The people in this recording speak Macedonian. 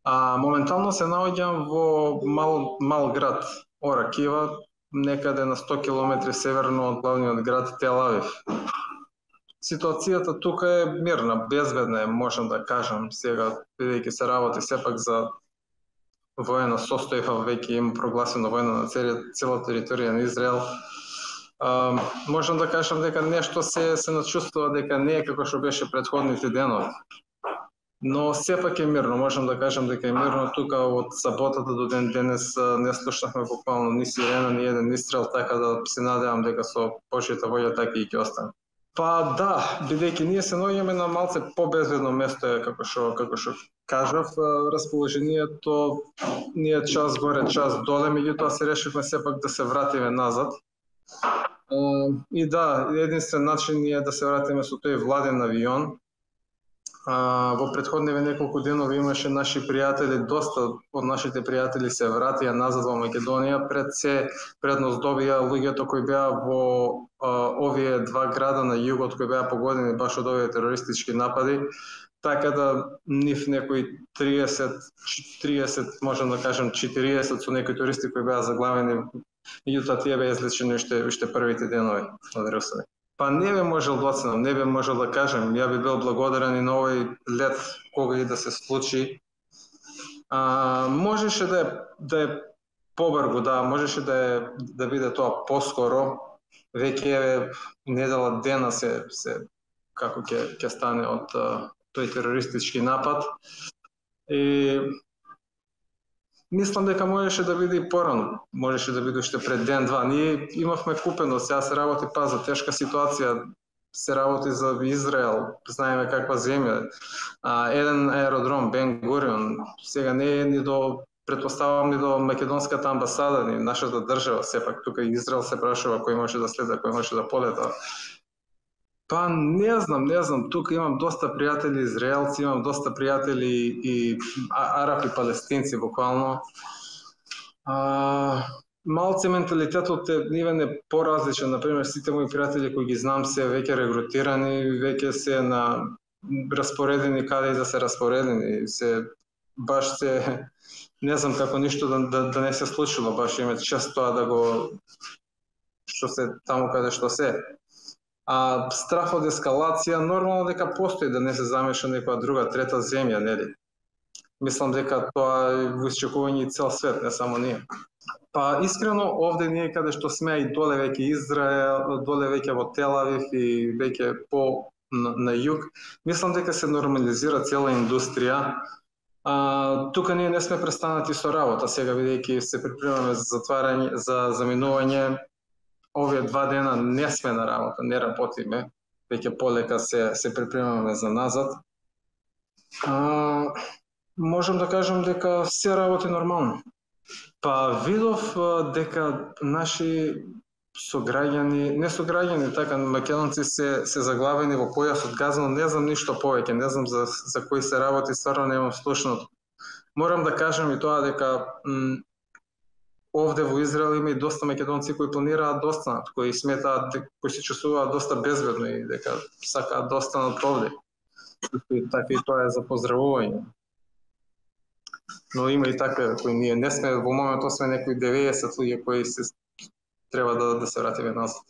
Моментално се наоѓам во мал град Оракива, некаде на 100 км северно од главниот град Тел Авив. Ситуацијата тука е мирна, безбедна е, можам да кажам сега, бидејќи се работи сепак за воена состојба, веќе има прогласена војна на цела територија на Израел. Можам да кажам дека нешто се начувствува дека не е како што беше претходните денови. Но сепак е мирно, можам да кажам дека е мирно тука од саботата до ден денес не слушнахме буквално ни сирена, ни еден истрел, така да се надевам дека со Божјата волја така и ќе остане. Па да, бидејќи ние се наоѓаме на малце побезбедно место, како што кажав, расположението ние час горе, час доле, меѓутоа се решивме сепак да се вратиме назад. И да, единствен начин е да се вратиме со тој владен авион. Во претходниве неколку денови имаше наши пријатели, доста од нашите пријатели се вратија назад во Македонија, предност добија луѓето кои беа во овие два града на југот кои беа погодени баш од овие терористички напади, така да нив некои 30, можам да кажам 40 со некои туристи кои беа заглавени, меѓутоа тие беа излечени уште првите денови од русови. Па не бе можел да оценам, не бе можел да кажем, ја би бил благодарен и на овој лет кога и да се случи. Можеше да е побрзо, да, можеше да биде тоа поскоро, веќе недела дена се како ќе стане од тој терористички напад. И мислам дека можеше да биде и порано, можеше да биде уште пред ден-два. Ние имавме купено, сега се работи за тешка ситуација, се работи за Израел, знаеме каква земја. Еден аеродром, Бен Гурион, сега не е ни до, претпоставам, ни до македонската амбасада, ни нашата држава, сепак тука Израел се прашува кој може да следа, кој може да полета. Па не знам, тука имам доста пријатели израелци, имам доста пријатели и арапи, палестинци буквално. Малце менталитетот нивен е поразличен, например сите мои пријатели кои ги знам се веќе регрутирани, веќе се распоредени каде да се распоредени, баш не знам како ништо да не се случило, баш имат чест тоа да го што се таму каде што се. Страф од ескалација нормално дека постои, да не се замеша некоја друга трета земја, нели? Мислам дека тоа е во исчекување и цел свет, не само ние. Па искрено овде ние каде што сме и доле веќе Израел, доле веќе во Тел Авив и веќе на југ, мислам дека се нормализира цела индустрија. Тука ние не сме престанати со работа, сега бидејќи се припремаме за затварање, за заминување. Овие 2 дена не сме на работа, не работиме, веќе полека се припремаме за назад. Можам да кажам дека се работи нормално. Па видов дека наши сограѓани, не сограѓани, така македонци се заглавени во појасот Газа, но не знам ништо повеќе, не знам за кои се работи, стварно немам слушнато. Морам да кажам и тоа дека овде во Израел има и доста македонци кои планираат да останат, кои сметаат, кои се чувствуваат доста безбедно и дека сакаат да останат овде. Така и тоа е за поздравување. Но има и такви кои ние не сме, во моментот сме некои 90 луѓе кои треба да се вратиме назад.